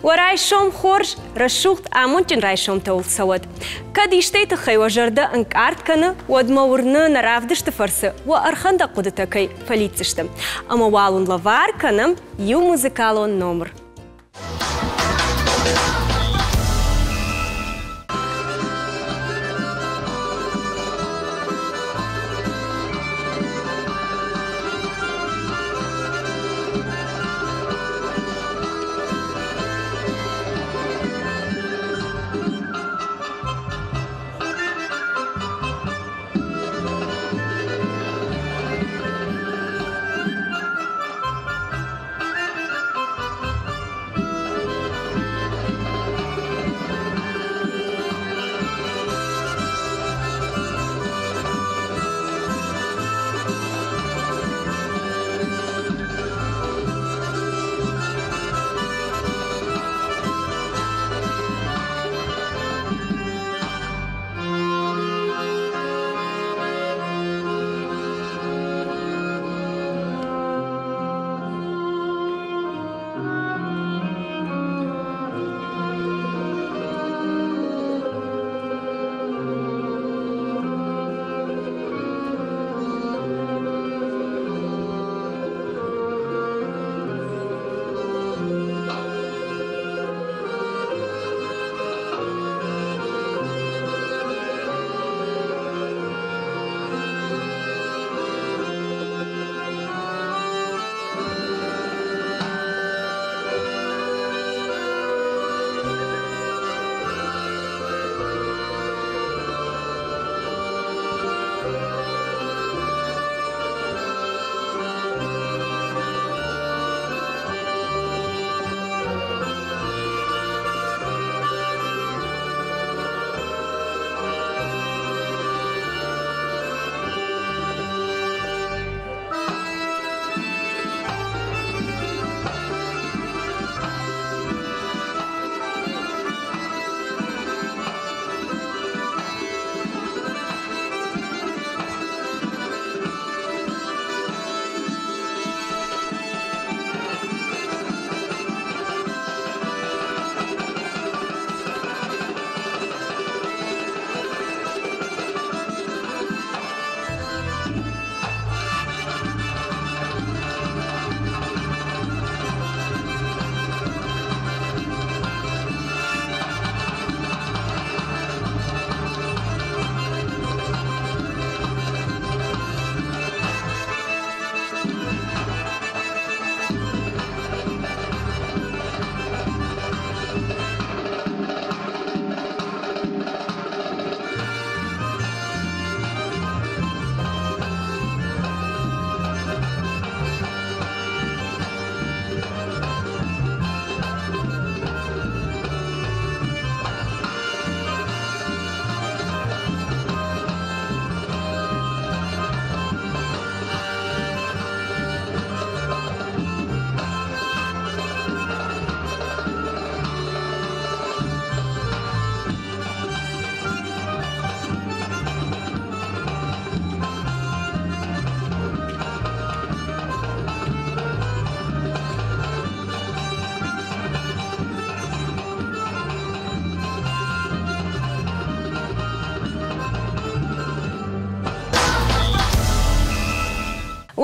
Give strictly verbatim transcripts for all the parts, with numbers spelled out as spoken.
Уӕ райсом хорз, рӕсугъд амондджын райсомтӕ уыл цӕуӕд. Кӕд истӕй тыххӕй уӕ зӕрдӕ ӕнкъард кӕны, уӕд мӕ уырны нӕ равдысты фӕрцы уӕ ӕрхӕндӕг хъуыдытӕ кӕй фӕлидздзысты. Ӕмӕ уал уын лӕвар кӕнӕм иу музыкалон номыр.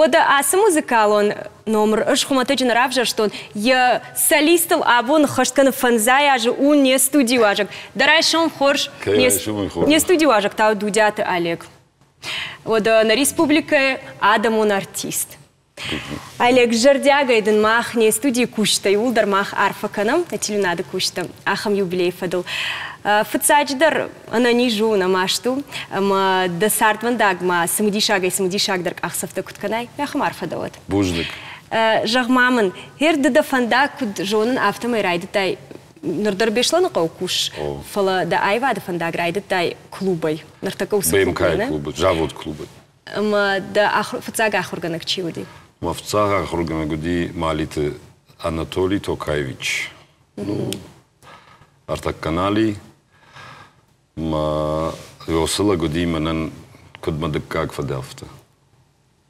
Уӕдӕ ацы музыкалон номыр ӕз хуымӕтӕджы нӕ равзӕрстон, йӕ солистыл абон ӕххӕст кӕны фӕндзай азы у не студиуазӕг. Дӕ райсом хорз, не студиуазӕг та у Дудиаты Олег. Уӕдӕ нӕ республикӕйы адӕмон артист. Олег, зӕрдиагӕй дын мах не студийы кусджытӕ иууылдӕр мах арфӕ кӕнӕм, нӕ телеуынады кусджытӕ ахӕм юбилейы фӕдыл. Фыццаджыдӕр ӕнӕниз у, нӕ маст у, ӕмӕ дӕ цардвӕндагмӕ цымыдисагӕй цымыдисагдӕр къахдзӕфтӕ куыд кӕнай, ахӕм арфӕ дӕ уӕд. Бузныг. Зӕгъ-ма мын, гъер ды дӕ фӕндаг куыд зонын, афтӕмӕй райдыдтай ныр дӕр Беслӕныхъӕуы кусыс, фӕлӕ дӕ аивады фӕндаг райдыдтай клубӕй. Ныртӕккӕ уыцы БМК-йы клубы, завод клубы. Ӕмӕ дӕ фыццаг ахуыргӕнӕг чи уыди? Мӕ фыццаг ахуыргӕнӕг уыди Малиты Анатолий Токаевич. Ну, ӕртӕкканали. Мӕ уыцы лӕг уыди мӕнӕн куыд мӕ дыккаг фыдӕфты.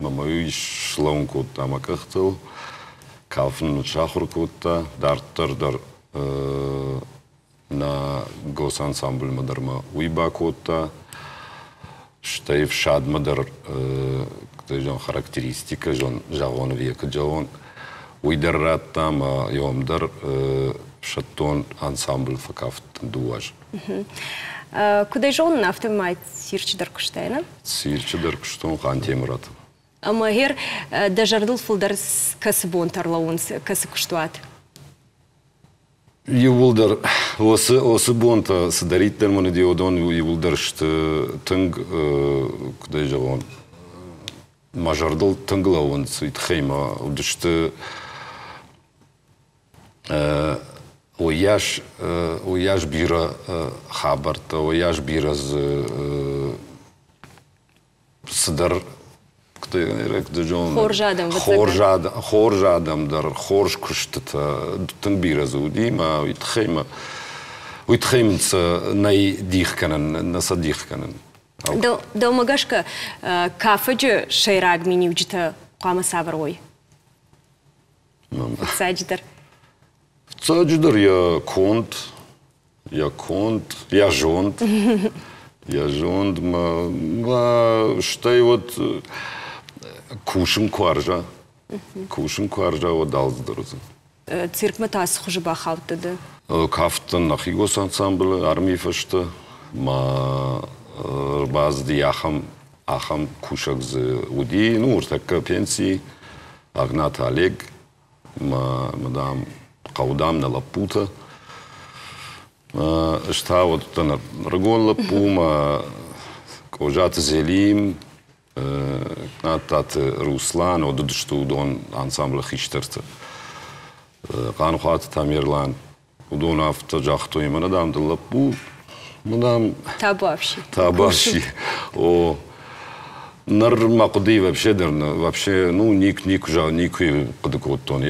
Мӕ мӕ уый слӕууын кодта мӕ къӕхтыл, кафын мын сахуыр кодта, дарддӕр дӕр Нӕ госансамблмӕ дӕр ма уый бакодта, стӕй ӕфсадмӕ дӕр характеристикӕ зӕгъон ӕви куыд зӕгъон, уый дӕр радта ӕмӕ йӕм дӕр ӕфсӕддон ансамбль фӕкафт дыууӕ азы. Куыд ӕй зонын, афтӕмӕй цирчы дӕр куыстай, нӕ? Цирчы дӕр куыстон Хъантемыраты. Ӕмӕ гъер дӕ зӕрдыл фылдӕр кӕцы бонтӕ ӕрлӕууынц, кӕцы куыстуат? Иууылдӕр уыцы, уыцы бонтӕ цыдӕриддӕр мын уыди, уыдон иууылдӕр сты тынг, куыд ӕй зӕгъон, мӕ зӕрдыл тынг лӕууынц, уый тыххӕй мӕ уыдысты уыйас, уыйас бирӕ хабӕрттӕ, уыйас бирӕ дзы цыдӕр хорз адӕм, хорз адӕм, хорз адӕм дӕр, хорз куыстытӕ тынг бирӕ дзы уыди, мӕ уый тыххӕй мӕ уый тыххӕй мын сӕ нӕй дих кӕнӕн, нӕ сӕ дих кӕнын. Дӕумӕ гӕсгӕ кафӕджы сӕйраг миниуджытӕ хъуамӕ цавӕр уой? Фыццаджыдӕр. Фыццаджыдӕр йӕ конд, йӕ конд, йӕ зонд. Йӕ зонд ма, стӕй уӕд кусын куы уарза, кусын куы уарза, уӕд алцыдӕр уыдзӕн. Циркмӕ та цы хуызы бахаудтӕ ды? Кафтӕн нӕхи госансамблы армийы фӕстӕ ма ӕрбацыди ахӕм, ахӕм кусӕг дзы уыди, ну, ӕртӕккӕ пенсийы, Агнаты Олег, ма, дам, хъӕуы, дам, нӕ лӕппутӕ. Ӕз та уыдтӕн ӕрыгон лӕппу, ма Къозаты Зелим, Надтаты Руслан, уыдысты уыдон ансамблы хистӕртӕ. Хъаныхъуаты Тамерлан, уыдон афтӕ загътой, мӕнӕ, дам, ды лӕппу, мӕ, дам... Табуафси. Табуафси. О, ныр мӕ хъуыдыйы вообще дӕр, вообще, ну, ник, никуы, никуы хъуыды кодтон,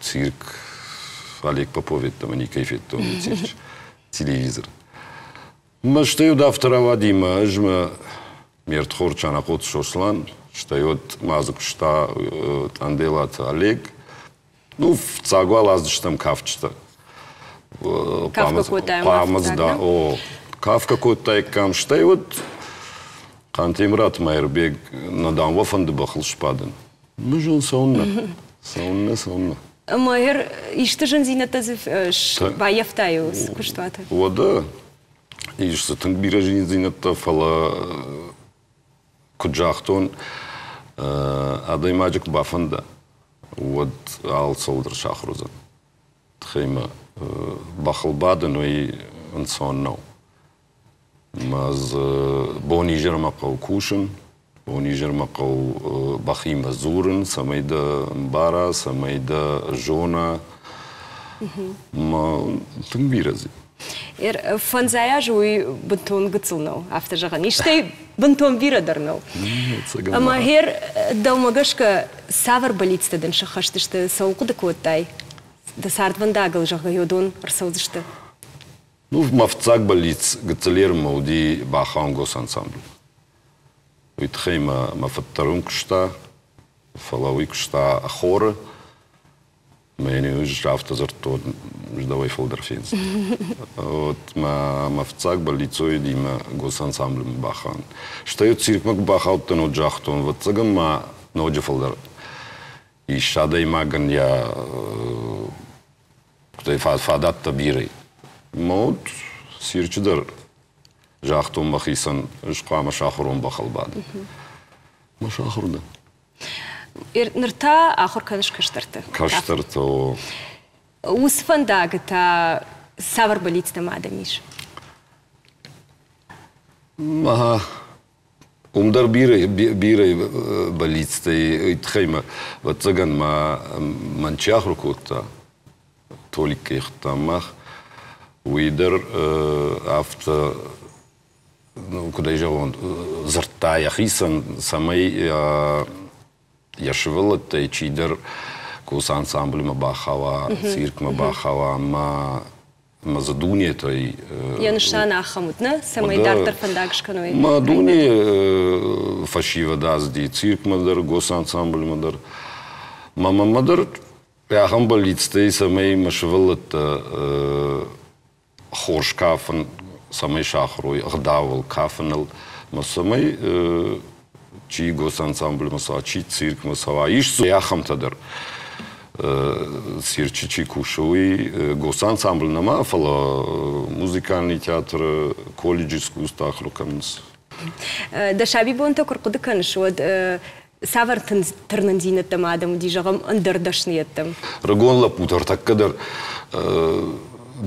цирк Олег Попов ӕмӕ никӕй федтон цирчы. Телевизор. Мӕ стӕй уыд афтӕ рауади, мӕ ӕз мӕ ме рдхорд Чанахъоты Сослан, стӕй уӕд ма дзы куыста Тъанделаты Олег. Ну, фыццаг уал аздыстӕм кафджытӕ. Кафгӕ кодтаем. Хъуамӕ да, о, кафгӕ кодтаиккам, стӕй уӕд Хъантемыраты Майырбег, нӕ дам уӕ фӕнды бӕхыл сбадын. Мызон цӕуыннӕ, цӕуыннӕ, цӕуыннӕ. Ӕмӕ гъер исты зындзинӕдтӕ дзы баййӕфтай куыстуаты? Уӕдӕ, ис дзы тынг бирӕ зындзинӕдтӕ, фӕлӕ куыд загътон, адӕймаджы куы бафӕнда, уӕд алцӕуыл дӕр сахуыр уыдзӕн. Тыххӕй мӕ бӕхыл бадын уый ӕнцон нӕу. Мӕ дзы бон-изӕрмӕ хъӕуы кусын, бон-изӕрмӕ хъӕуы бӕхимӕ дзурын, цӕмӕй дӕ ӕмбара, цӕмӕй дӕ зона. Мӕ тынг бирӕ дзы. Фӕндзай азы уый бынтон гыццыл нӕу, афтӕ зӕгъӕн. Истӕй бынтон бирӕ дӕр нӕу. Ӕмӕ гъер дӕумӕ гӕсгӕ цавӕр бӕллицтӕ дын сӕххӕст сты, цӕуыл хъуыды кодтай? Дӕ цардвӕндагыл, зӕгъгӕ, уыдон ӕрцӕудзысты? Ну, мӕ фыццаг бӕллиц гыццылермӕ уыди бахауын госансамбль. Уый тыххӕй мӕ мӕ фыд дӕр уым куыста, фӕлӕ уый куыста хоры. Мӕ йын ӕз афтӕ дзырдтон, ӕз дӕуӕй фылдӕр фендзынӕн. Вот мӕ мӕ фыццаг бӕллиц уыди мӕ госансамблмӕ бахауын. Стӕй циркмӕ куы бахаудтӕн, уӕд загътон, ӕвӕццӕгӕн ма ноджы фылдӕр ис адӕймагӕн йӕ фадӕттӕ бирӕ. Мӕ уӕд цирчы дӕр загътон мӕхицӕн, ӕз хъуамӕ сахуыр уон бӕхыл бадын. Мӕ сахуыр дӕн. Ныр та ахуыр кӕныс кӕстӕрты? Кӕстӕрты, о. Уыцы фӕндагы та цавӕр бӕллицтӕ ма дӕм ис? Ага. Уым дӕр бирӕ, бирӕ бӕллицтӕ уый тыххӕй мӕ, ӕвӕццӕгӕн ма мӕн чи ахуыр кодта, Толик кӕй хуыдтам мах, уый дӕр афтӕ, ну, куыд ӕй зӕгъон, дзырдта йӕхицӕн, цӕмӕй йӕ сывӕллӕттӕй чидӕр косы ансамблмӕ бахауа, циркмӕ бахауа, ӕмӕ ӕмӕ дзы дунетӕй... Йӕ нысан ахӕм уыд, нӕ? Цӕмӕй дарддӕр фӕндаг скӕной. Мӕ дуне фӕсивӕд ацыди циркмӕ дӕр, госансамблмӕ дӕр. Мӕ мӕнмӕ дӕр Ахӕм бӕллицтӕй, цӕмӕй мӕ сывӕллӕттӕ хорз кафын, цӕмӕй сахуыр уой ӕгъдауыл, кафыныл, ӕмӕ цӕмӕй чи госансамбльмӕ цӕуа, чи циркмӕ цӕуа, ис дзы ахӕмтӕ дӕр. Цирчы чи кусы, уый госансамбль нӕма, фӕлӕ музыкальный театры, колледжы искусств ахуыр кӕнынц. Дӕ сабибонтӕ куы рхъуыды кӕныс, уӕд цавӕр тырнындзинӕдтӕм адӕм уыди, зӕгъӕм, ӕндӕр дӕсныйӕдтӕм? Рыгон лӕппутӕ ӕртӕккӕ дӕр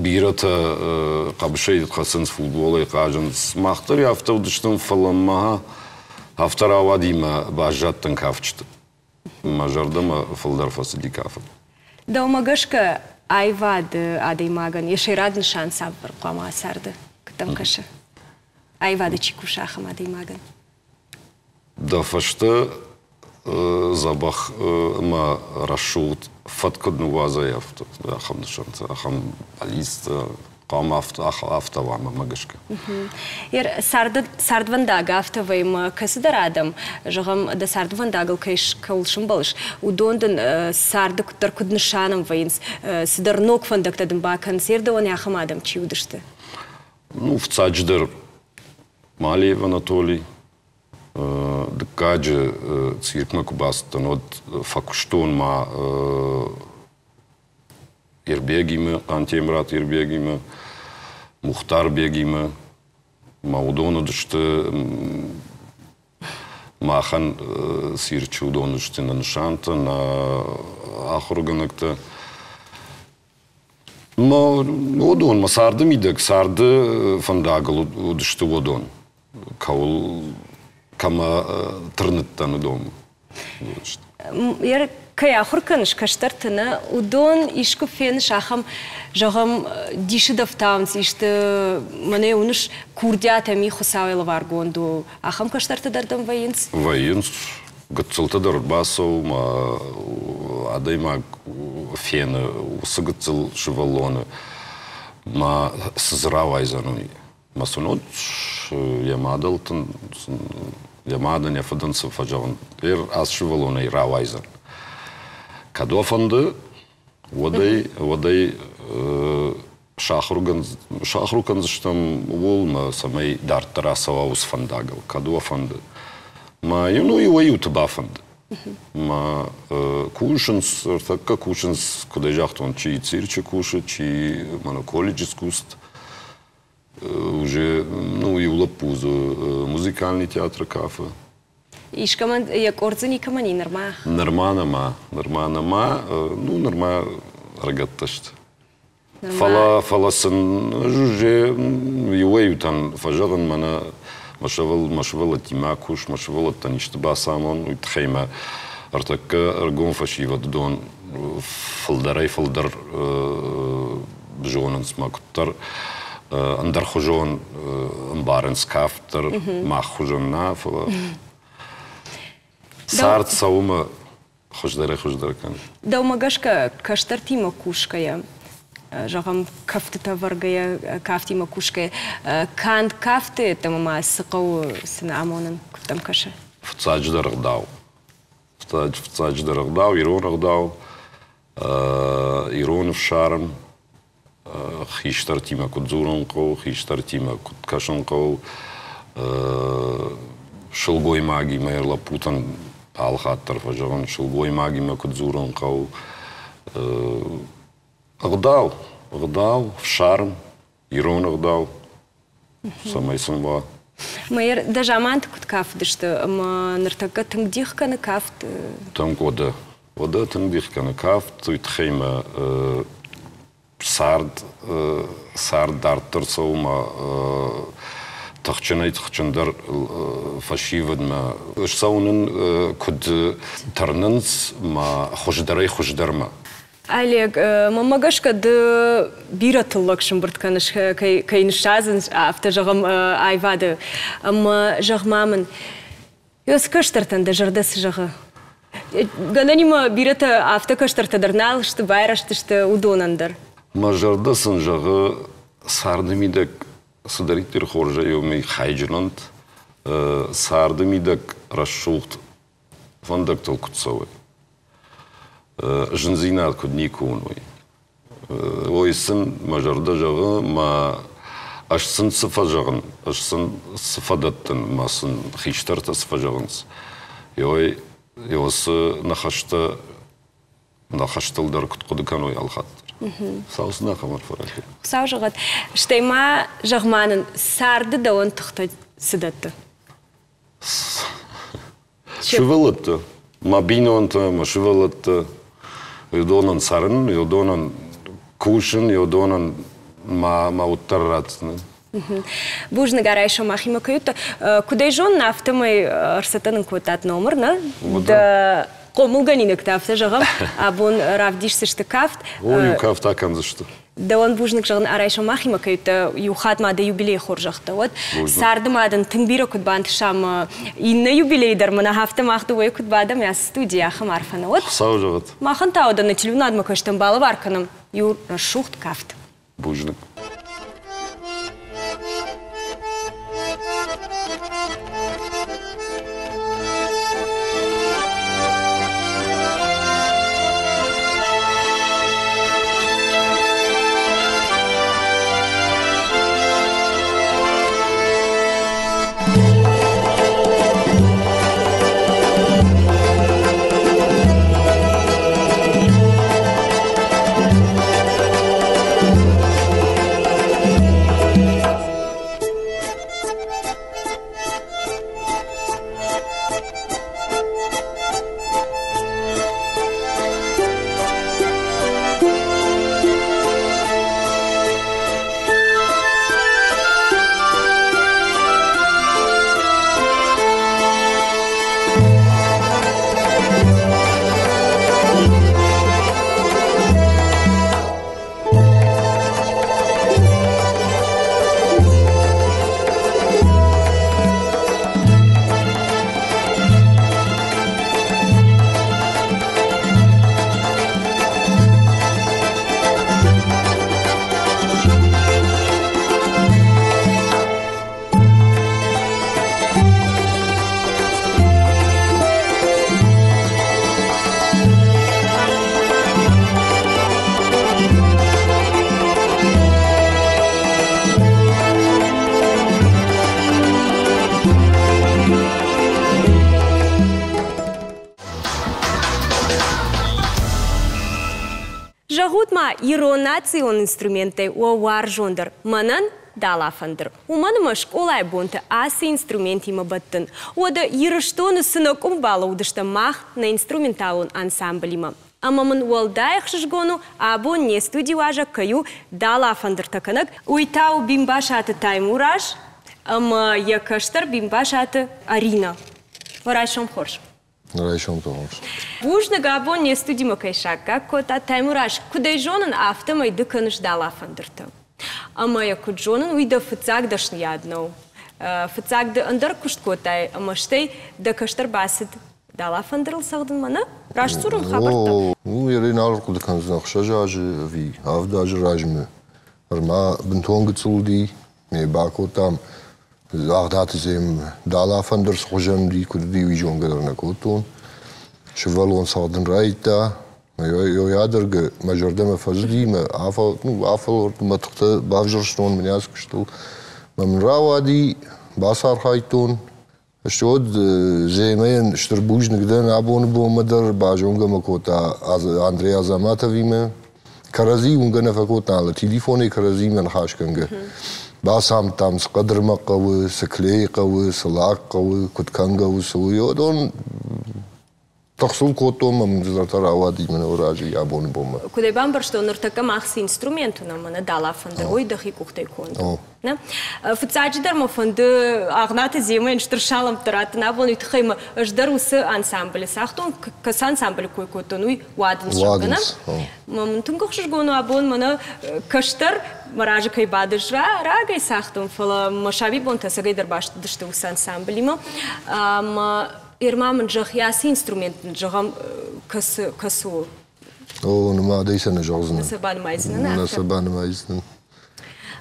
бирӕтӕ хъӕбысӕй хӕцынц, футболӕй хъазынц. Мах дӕр афтӕ уыдыстӕм, фӕлӕ ма афтӕ рауади мӕ баззадтӕн кафджыты. Мӕ зӕрдӕмӕ фылдӕр фӕцыди кафын. Дӕумӕ гӕсгӕ аивады адӕймагӕн йӕ сӕйраг нысан цавӕр хъуамӕ царды? Куыд дӕм кӕсы? Аивады чи кусы, ахӕм адӕймагӕн? Дӕ фӕстӕ дзӕбӕх ӕмӕ рӕсугъд фӕд куыд ныууадзай, афтӕ ахӕм нысантӕ, ахӕм бӕллицтӕ хъуамӕ афтӕ уа мӕнмӕ гӕсгӕ. Цардвӕндаг афтӕ вӕййы, ӕмӕ кӕцыдӕр адӕм, зӕгъӕм, дӕ цардвӕндагыл кӕй кӕуыл сӕмбӕлыс, уыдон дын царды куыддӕр куыд нысанӕн вӕййынц, цыдӕр ног фӕндӕгтӕ дын бакӕнынц, дӕуӕн ахӕм адӕм чи уыдысты? Ну, фыццаджыдӕр Малиев Анатолий, дыккаджы циркмӕ куы бацыдтӕн, уӕд фӕкуыстон ма Ирбегимӕ, Хъантемыраты Ирбегимӕ, Мухтарбегимӕ. Ма уыдон уыдысты махӕн цирчы уыдон уыдысты нӕ нысантӕ, нӕ ахуыргӕнӕгтӕ. Ма уыдон, мӕ царды мидӕг, царды фӕндагыл уыдысты уыдон, кӕуыл кӕмӕ тырныдтӕн, уыдон. Кӕй ахуыр кӕныс кӕстӕрты, нӕ, уыдон искуы феныс ахӕм, зӕгъӕм, дисы дӕфтауынц исты, мӕнӕ уыныс, курдиат ӕм и Хуыцауӕй лӕваргонд у, ахӕм кӕстӕртӕ дӕр дӕм вӕййынц? Вӕййынц. Гыццылтӕ дӕр бацӕуы, ма адӕймаг фены уыцы гыццыл сывӕллоны, ма цы дзы рауайдзӕн, уый. Ма сын уӕд йӕ мадӕлтӕн, йӕ мадӕн, йӕ фыдӕн цы фӕзӕгъын, ер ацы сывӕллонӕй рауайдзӕн. Кӕд уӕ фӕнды, уӕд ӕй, уӕд ӕй сахуыр кӕндзыстӕм ууыл, мӕ цӕмӕй дарддӕр ацӕуа уыцы фӕндагыл, кӕд уӕ фӕнды. Ма ну, иуӕй-иуты бафӕнды. Ма кусынц, ӕртӕккӕ кусынц, куыд ӕй загътон, чи цирчы кусы, чи мӕнӕ колледж искусств. Уже, ну, иу лӕппу дзы музыкальный театры кафы. Искӕмӕн йӕ къорд дзы никӕмӕн и нырма? Нырма нӕма, нырма нӕма, ну, нырма ӕрыгӕттӕ сты. Фӕлӕ, фӕлӕ сын ӕз уже иуӕй-иутӕн фӕзӕгъын, мӕнӕ мӕ сывӕл, мӕ сывӕллӕттимӕ кус, мӕ сывӕллӕттӕн исты бацамон, уый тыххӕй мӕ ӕртӕккӕ ӕргом фӕсивӕд уыдон фылдӕрӕй-фылдӕр зонынц мӕ куыддӕр ӕндӕрхуызон ӕмбарынц кафт дӕр, мах хуызӕн нӕ, фӕлӕ цард цӕуы мӕ хуыздӕрӕй-хуыздӕр кӕны. Дӕумӕ гӕсгӕ кӕстӕртимӕ кусгӕйӕ, зӕгъӕм, кӕфтытӕ вӕргӕйӕ, кафтимӕ кусгӕйӕ, канд кафты йеддӕмӕ ма цы хъӕуы сын амонын, куыд дӕм кӕсы? Фыццаджыдӕр ӕгъдау. Фыццаджыдӕр ӕгъдау, ирон ӕгъдау, ирон ӕфсарм, хистӕртимӕ куыд дзурын хъӕуы, хистӕртимӕ куыд кӕсын хъӕуы, сылгоймагимӕ лӕппутӕн алыхатт дӕр фӕзӕгъын, сылгоймагимӕ куыд дзурын хъӕуы. Ӕгъдау, ӕгъдау, ӕфсарм, ирон ӕгъдау, цӕмӕй сын уа. Майыр, дӕ заманты куыд кафыдысты ӕмӕ ныртӕккӕ тынг дих кӕны кафт? Тынг уӕдӕ. Уӕдӕ тынг дих кӕны кафт, уый тыххӕй мӕ цард, цард дарддӕр цӕуы мӕ тыхджынӕй-тыхджындӕр фӕсивӕдмӕ ссӕуын куыд тырнынц мӕ хуыздӕрӕй-хуыздӕрмӕ. Олег, мӕнмӕ гӕсгӕ ды бирӕ тыллӕг сӕмбырд кӕныс, кӕй, кӕй ныссадзынц, афтӕ зӕгъӕм, аивады. Ӕмӕ зӕгъ-ма мын, цы кӕстӕртӕн дӕ зӕрдӕ цы зӕгъы? Гӕнӕнимӕ бирӕтӕ афтӕ кӕстӕртӕ дӕр нал сты, байрӕзтысты уыдонӕн дӕр. Мӕ зӕрдӕ сын зӕгъы, царды мидӕг цыдӕриддӕр хорзӕй уымӕй хайджын уӕнт, царды мидӕг рӕсугъд фӕндӕгтыл куыд цӕуой. Зындзинад куыд никуы уыной. Ой, сын мӕ зӕрдӕ зӕгъы, мӕ ӕз сын цы фӕзӕгъын, ӕз сын цы фӕдӕттын, мӕ сын хистӕртӕ цы фӕзӕгъынц. Ой, цы ныхӕстӕ ныхӕстыл дӕр куыд хъуыды кӕной алхатт дӕр. Хуыцау сын ахӕм арфӕ ракӕнӕд. Хуыцау зӕгъӕд. Стӕй ма зӕгъ-ма нын, царды дӕуӕн тыхтӕ цы дӕтты? Сывӕллӕттӕ, мӕ бинонтӕ, мӕ сывӕллӕттӕ, уыдонӕн цӕрын, уыдонӕн кусын, уыдонӕн мӕ мӕ уд дӕр ратдзынӕн. Бузныг райсом махимӕ кӕй уыдтӕ. Куыд ӕй зонын, афтӕмӕй ӕрцӕттӕ нын кодтат номыр, нӕ? Дӕ хъомылгӕнинӕгтӕ, афтӕ зӕгъӕм, абон равдисдзысты кафт. О, иу кафт акӕндзысты. Дӕуӕн бузныг зӕгъын райсом махимӕ кӕй уыдтӕ, иу хатт ма дӕ юбилейы хорзӕхтӕ уӕд. Царды ма дын тынг бирӕ куыд бантыса ӕмӕ иннӕ юбилей дӕр мӕнӕ афтӕ мах дыууӕйы куыд бадӕм, ацы студийы ахӕм арфӕ нӕ уӕд. Хуыцау зӕгъӕд. Махӕн та уӕдӕ нӕ телеуынадмӕ кӕстӕн балӕвар кӕнӕм иу рӕсугъд кафт. Бузныг. Зӕгъут ма, ирон национ инструменттӕй уӕ уарзондӕр мӕнӕн далафӕндыр. Уымӕн ӕмӕ скъолайы бонты ацы инструментимӕ бӕттын. Уӕдӕ Ирыстоны цы нӕ къуым балӕудыстӕм мах нӕ инструменталон ансамблимӕ. Ӕмӕ мын уӕлдай ӕхсызгон у, абон не студийы уазӕг кӕй у далафӕндыртӕ кӕнӕг. Уый та у Бимбасаты Таймураз ӕмӕ йӕ кӕстӕр Бимбасаты Арина. Райсом хорз. Райсом хорз. Бузныг абон не студимӕ кӕй саккаг кодта Таймураз, куыд ӕй зонын, афтӕмӕй ды кӕныс далафӕндыртӕ. Ӕмӕ йӕ куыд зонын, уый дӕ фыццаг дӕсныйад нӕу. Фыццаг ды ӕндӕр куыст кодтай, ӕмӕ стӕй дӕ кӕстӕр бацыд далафӕндырыл цӕгъдынмӕ, нӕ? Раст дзурын хабӕрттӕ? О, ну, ерӕй нал хъуыды кӕндзынӕн ӕхсӕз азы ӕви авд азы размӕ. Ӕрмӕ бынтон гыццыл уыди, ме бакодтам Агъдаты зем далафӕндыр цы хуызӕн уыди, куыд уыди, уый зонгӕ дӕр нӕ кодтон. Сывӕллон цӕгъдын райдыдта, ӕдӕргӕ мӕ зӕрдӕмӕ фӕзыди, мӕ афӕлвӕрдтон, мӕ тыхтӕ бавзӕрстон мын ацы куыстыл. Мӕ мын рауади, бацархайдтон. Стӕй Земӕйӕн стыр бузныг дӕн абоны бонмӕ дӕр базонгӕ мӕ кодта Андрей Азаматовимӕ. Кӕрӕдзи уынгӕ нӕ фӕкодта, алы телефонӕй кӕрӕдзимӕ ныхасгӕнгӕ. Бацамыдтам, цы хъӕдырмӕ хъӕуы, цы клей хъӕуы, цы лак хъӕуы, куыд кӕнгӕ у, цы у. Уыдон тыхсыл кодтон, мӕ мын цыдӕртӕ рауади мӕнӕ разы абоны бонмӕ. Куыд ӕй бамбӕрстон, ныртӕккӕ мах цы инструмент уынӕм, мӕнӕ далафӕндыр, уый дӕхи къухтӕй конд у. Нӕ? Фыццаджыдӕр мӕ фӕнды Агънаты Земӕйӕн стыр салӕмттӕ раттын. Абон уый тыххӕй мӕ ӕз дӕр уыцы ансамблы цагътон, кӕцы ансамблы кой кодтон, уый уадындз зӕгъгӕ. Мӕ мын тынг ӕхсызгон у абон мӕнӕ кӕстӕр мӕ разы кӕй бадыс, рагӕй цагътон, фӕлӕ мӕ сабибонтӕ ӕцӕгӕй дӕр баст уыдысты уыцы ансамблимӕ. Ӕмӕ Ерма мын зӕгъ, ацы инструмент нын зӕгъӕм, кӕцы, кӕцы у? О, нымадӕй сӕ нӕ зӕгъдзынӕн. Нӕ сӕ банымайдзынӕн, Нӕ сӕ банымайдзынӕн.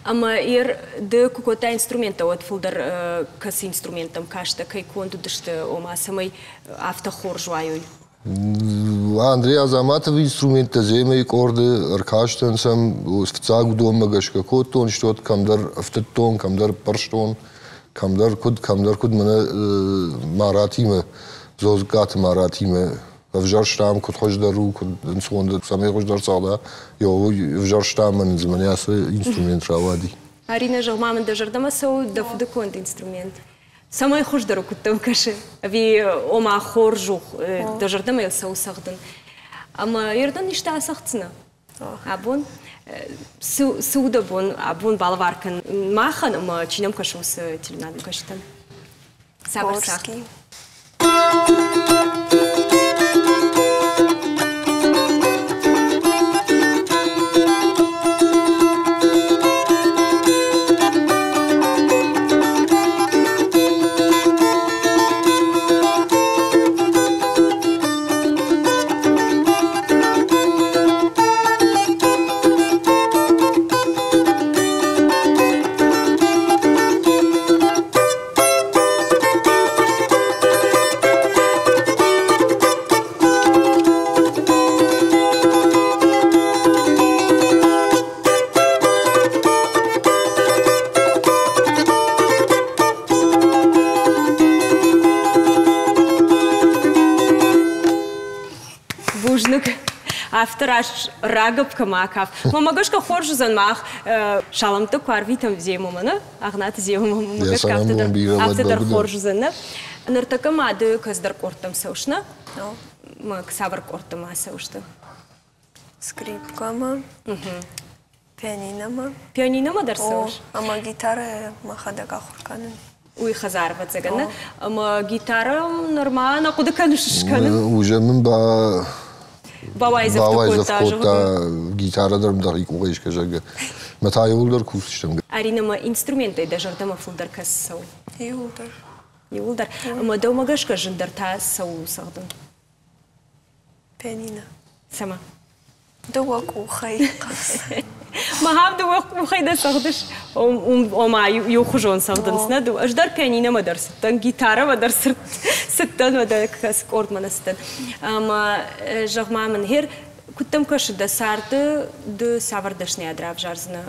Ӕмӕ ер ды куы кодтай инструменттӕ, уӕд фылдӕр кӕцы инструменттӕм кастӕ, кӕй конд уыдысты, ома цӕмӕй афтӕ хорз уайой? Андрей Азаматов инструменттӕ земӕйы къорды ӕркастӕн сӕм фыццаг уыдонмӕ гӕсгӕ кодтон, стот кӕмдӕр ӕфтыдтон, кӕмдӕр ппӕрстон, кӕмдӕр куыд, кӕмдӕр куыд мӕнӕ Маратимӕ, Зозгаты Маратимӕ ӕвзӕрстам, куыд хуыздӕр у, куыд ӕнцондӕр, цӕмӕй хуыздӕр цӕгъда, ӕвзӕрстам мӕн дзы мӕнӕ ацы инструмент рауади. Арина, зӕгъ-ма мын, дӕ зӕрдӕмӕ цӕуы дӕ фыдыконд инструмент? Цӕмӕй хуыздӕр у, куыд дӕм кӕсы? Ӕви ома хорз у, дӕ зӕрдӕмӕ йыл цӕуы цӕгъдын? Ӕмӕ ердӕн исты ацӕгъддзынӕ? Абон цы, цы у дӕ бон абон балӕвар кӕн махӕн ӕмӕ чи нӕм кӕсы, уыцы телеуынадмӕ кӕсджытӕн? Цавӕр цагъд? Бузныг. Афтӕ раст рагӕпп кӕм акаф. Мӕ гӕсгӕ хорз уыдзӕн мах саламтӕ куы арвитӕм Земомӕ, нӕ? Агънаты Земомӕ, мӕ гӕсгӕ афтӕ дӕр, афтӕ дӕр хорз уыдзӕн, нӕ? Ныртӕккӕ ма ды кӕцыдӕр къордтӕм цӕуыс, нӕ? Мӕ цавӕр къордтӕм ацӕуыс ды? Скрипкӕмӕ, пианиномӕ. Пианиномӕ дӕр цӕуыс? Ӕмӕ гитарӕ мӕхӕдӕг ахуыр кӕнын. Уый хӕдзар, ӕвӕццӕгӕн, нӕ? Ӕмӕ гитарӕ нырма нӕ хъуыды кӕныс скӕнын? Уже мын ба бауайдзӕф кодта, гитарӕ дӕр дӕхи къухӕй искӕ, зӕгъгӕ. Мӕ та иууылдӕр кусдзыстӕм. Арина, ма инструменттӕй дӕ зӕрдӕмӕ фылдӕр кӕцы цӕуы? Иууылдӕр. Иууылдӕр. Ӕмӕ дӕумӕ гӕсгӕ зындӕр та цӕуыл у цӕгъдын? Пианино. Цӕмӕ? Дыууӕ къухӕй. Махам дыууӕ къухӕй дӕ цӕгъдыс, ома иухуызон цӕгъдынц, нӕ? Ӕз дӕр пианиномӕ дӕр цыдтӕн, гитарӕмӕ дӕр цыдтӕн, уӕдӕ кӕцы къордмӕ нӕ цыдтӕн. Ӕмӕ зӕгъ-ма мын, гъер, куыд дӕм кӕсы, дӕ царды ды цавӕр дӕсныйад равзардзынӕ?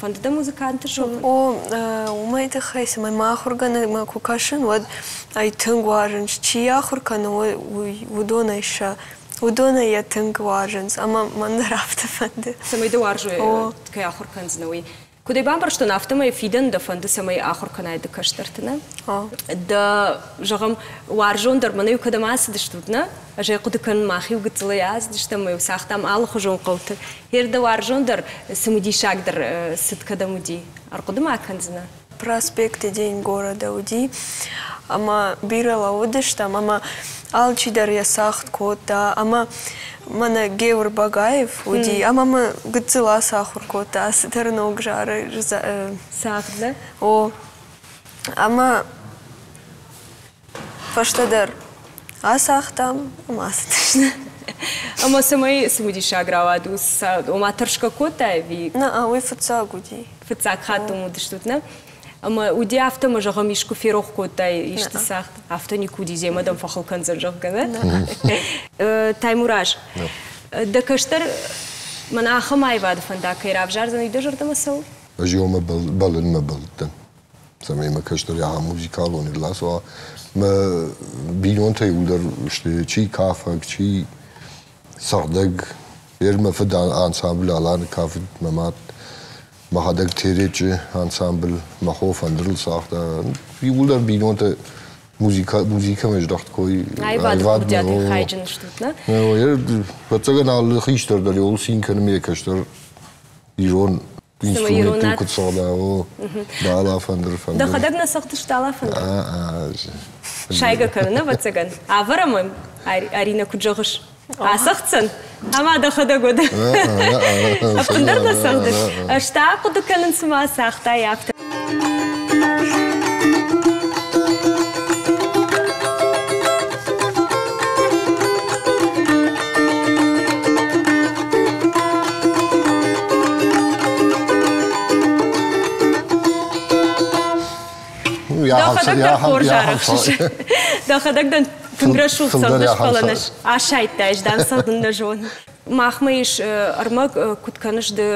Фӕнды дӕ музыканты суӕвын? О, уымӕй тыххӕй, цӕмӕй мӕ ахуыргӕнӕгмӕ куы кӕсын, уӕд ӕй тынг уарзынц. Чи ахуыр кӕны, уыдонӕй сӕ уыдонӕй йӕ тынг уарзынц, ӕмӕ мӕн дӕр афтӕ фӕнды. Цӕмӕй дӕ уарзой, кӕй ахуыр кӕндзынӕ, уый. Куыд ӕй бамбӕрстон, афтӕмӕй фидӕн дӕ фӕнды, цӕмӕй ахуыр кӕнай ды кӕстӕрты, нӕ? Дӕ, зӕгъӕм, уарзондӕр мӕнӕ-иу кӕдӕм ацыдыстут, нӕ? Ӕз ӕй хъуыды кӕнын, мах-иу гыццылӕй ацыдыстӕм, ӕмӕ-иу цагътам алыхуызон хъӕуты. Гъер дӕ уарзондӕр, цымыдисагдӕр цыд кӕдӕм уыди? Ӕрхъуыды ма кӕндзынӕ? Проспекты День города уыди, ӕмӕ бирӕ лӕууыдыстӕм, ӕмӕ алчидӕр йӕ цагъд кодта, ӕмӕ мӕнӕ Геор Багаев уыди, ӕмӕ мӕ гыццыл ацахуыр кодта цыдӕр ног зары. Цагъд, нӕ? О, ӕмӕ фӕстӕдӕр ацагътам ӕмӕ ацыдысты. Ӕмӕ цӕмӕй цымыдисаг рауад, ома тӕрсгӕ кодтай ӕви? Нӕ, уый фыццаг уыди. Фыццаг хатт уым уыдыстут, нӕ? Ӕмӕ уыди афтӕ, ӕмӕ зӕгъӕм, искуы ферох кодтай исты цагъд? Афтӕ никуы уыди, земӕ дӕм фӕхыл кӕндзӕн, зӕгъгӕ, нӕ? Таймураз, дӕ кӕстӕр мӕнӕ ахӕм аивады фӕндаг кӕй равзардзӕн, уый дӕ зӕрдӕмӕ цӕуы? Ӕз ёмӕ бӕллынмӕ бӕллыдтӕн, цӕмӕй мӕ кӕстӕр ахӕм музыкалон ӕрласуа. Мӕ бинонтӕ иууылдӕр сты чи кафӕг, чи цӕгъдӕг. Ер мӕ фыд ансамбль Аланы кафыд, мӕ мад мӕхӕдӕг Теречы ансамбль, мӕ хо фӕндырыл цагъта. Иууылдӕр бинонтӕ музыка, музыкӕмӕ здӕхт кой. Аивады курдиатӕй хайджын стут, нӕ? Ӕвӕццӕгӕн, алы хистӕр дӕр иуыл цин кӕны ме кӕстӕр ирон инструменттыл куыд цӕгъда, о, дала фӕндыр, фӕндыр. Дӕхӕдӕг нӕ цӕгъдыс дала фӕндыр? Сайгӕ кӕнын, ӕвӕццӕгӕн. Ӕвӕрӕм ӕм, Арина, куыд зӕгъыс? Ацӕгъддзӕн? Ӕмӕ дӕхӕдӕг уӕд. Ӕппындӕр нӕ цӕгъдыс? Ӕз та хъуыды кӕнын, цыма цагътай, афтӕ. Дӕхӕдӕг дӕр хорз арӕхсыс. Дӕхӕдӕг дӕн Тынг рӕсугъд цӕгъдыс, фӕлӕ нӕ асайдтай, дам цӕгъдын нӕ зонын. Махмӕ ис ӕрмӕг, куыд кӕныс ды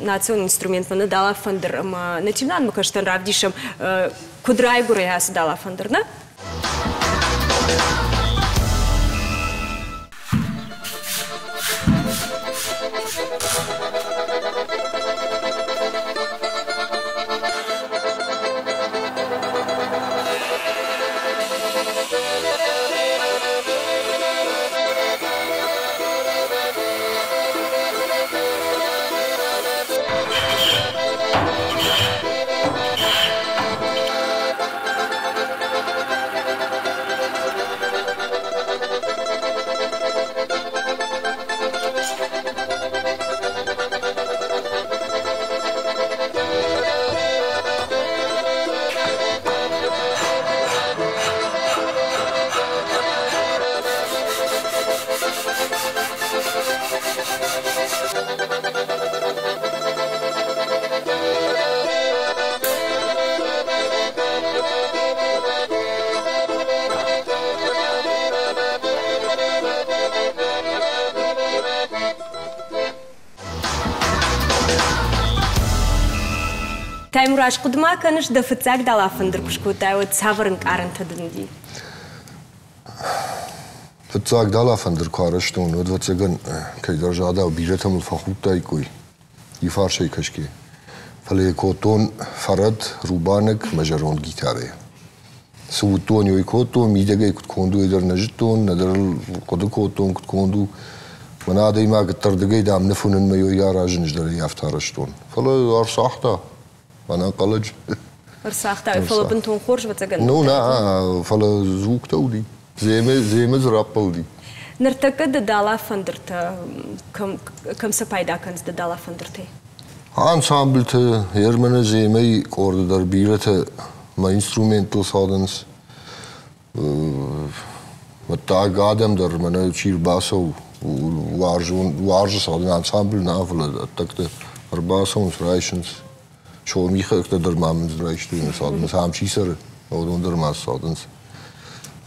национ инструментмӕ, нӕ далафӕндыр ӕмӕ нӕ телеуынынадмӕ кӕстӕн равдисӕм, куыд райгуыры ацы далафӕндыр, нӕ? Таймураз, хъуыды ма кӕныс, дӕ фыццаг далафӕндыр куы скодтай, уӕд цавӕр ӕнкъарӕнтӕ дын уыди? Фыццаг далафӕндыр куы арӕзтон, уӕд, ӕвӕццӕгӕн, кӕйдӕр задау бирӕтӕ мыл фӕхудтаиккой, иу фарсӕй кӕсгӕ. Фӕлӕ йӕ кодтон фӕрӕт, рубанок мӕ зӕронд гитарӕйӕ. Цы уыдтон, уый кодтон, мидӕгӕй куыд конд у, уый дӕр нӕ зыдтон, нӕдӕр ыл хъуыды кодтон, куыд конд у. Мӕнӕ адӕймаг ӕддӕрдыгӕй, дам, ныв уынынмӕ йӕ аразын, ӕз дӕр ӕй афтӕ арӕзтон. Фӕлӕ ӕрцагъта. Мӕнӕ хъӕлӕджы. Ӕрцагъта, фӕлӕ бынтон хорз, ӕвӕццӕгӕн. Ну, нӕ, фӕлӕ звуктӕ уыди. Земе, земе дзы раппӕлди. Ныртӕккӕ ды далафӕндыртӕ кӕм, кӕм сӕ пайда кӕныс ды далафӕндыртӕй? Ансамбльты, Ерманы земӕй къорды дӕр бирӕтӕ мӕ инструменттыл цӕгъдынц. Мыддаг адӕм дӕр мӕнӕ чи рбацӕуы, уарзон, уарзы цӕгъдын ансамбль нӕ, фӕлӕ ӕддӕгты ӕрбацӕуынц, райсынц. Сомихӕгтӕ дӕр ма мын райстой цӕгъдынц, ам чи цӕры, уыдон дӕр ма цӕгъдынц.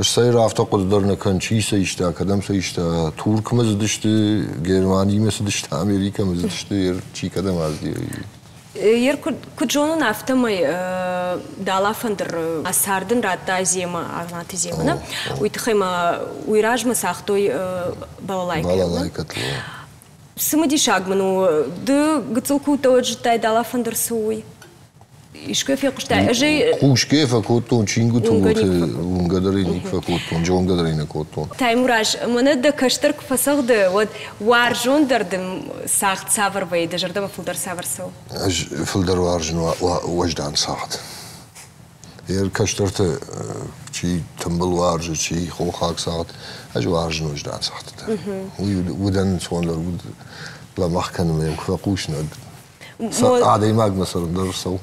Стӕй афтӕ хъуыды дӕр нӕ кӕн, чи сӕ иста, кӕдӕм сӕ иста. Туркмӕ цыдысты, Германимӕ цыдысты, Америкӕмӕ цыдысты, чи кӕдӕм азди. Ер куыд зонын, афтӕмӕй далафӕндыр цард ын радта Зема, Агънаты Зема, нӕ? Уый тыххӕй ма уый размӕ цагътой балалайкӕ. Балалайкӕтыл. Цымыдисаг мын у, ды гыццыл куы уыдтӕ, уӕд зыдтай далафӕндыр цы у, уый? Искуы фехъуыстай? Ӕз ӕй Хъусгӕ фӕкодтон чингуыты уылты, уынгӕ дӕр ӕй никуы фӕкодтон, зонгӕ дӕр ӕй нӕ кодтон. Таймураз, мӕнӕ дӕ кӕстӕр куы фӕцӕгъды, уӕд уарзондӕр дын цагъд цавӕр вӕййы, дӕ зӕрдӕмӕ фылдӕр цавӕр цӕуы? Ӕз фылдӕр уарзын уӕздан цагъд. Йӕ кӕстӕрты чи тымбыл уарзы, чи хохаг цагъд, ӕз уарзын уӕздан цагъдтытӕ. Уый удӕн ӕнцондӕр уд лӕмӕгъ кӕнынмӕ йӕм куы фӕхъусын, уӕд адӕймагмӕ цӕрын дӕр цӕуы.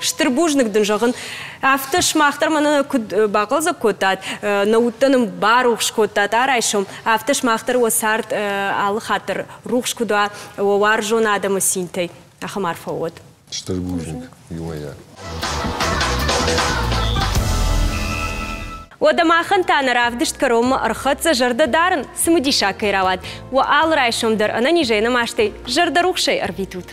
Стыр бузныг дын зӕгъын, афтӕ сымах дӕр мӕнӕ куыд бахъӕлдзӕг кодтат, нӕ удтӕ нын барухс кодтат арайсом, афтӕ сымах дӕр уӕ цард алы хатт дӕр рухс куыд уа, уӕ уарзон адӕмы цинтӕй. Ахӕм арфӕ уӕд. Стыр бузныг, иумӕйаг. Уӕдӕ махӕн та нӕ равдыст кӕронмӕ ӕрхӕццӕ, зӕрдӕ дарын, цымыдисаг кӕй рауад. Уӕ алы райсом дӕр ӕнӕнизӕй, ӕнӕмастӕй, зӕрдӕрухсӕй ӕрвитут.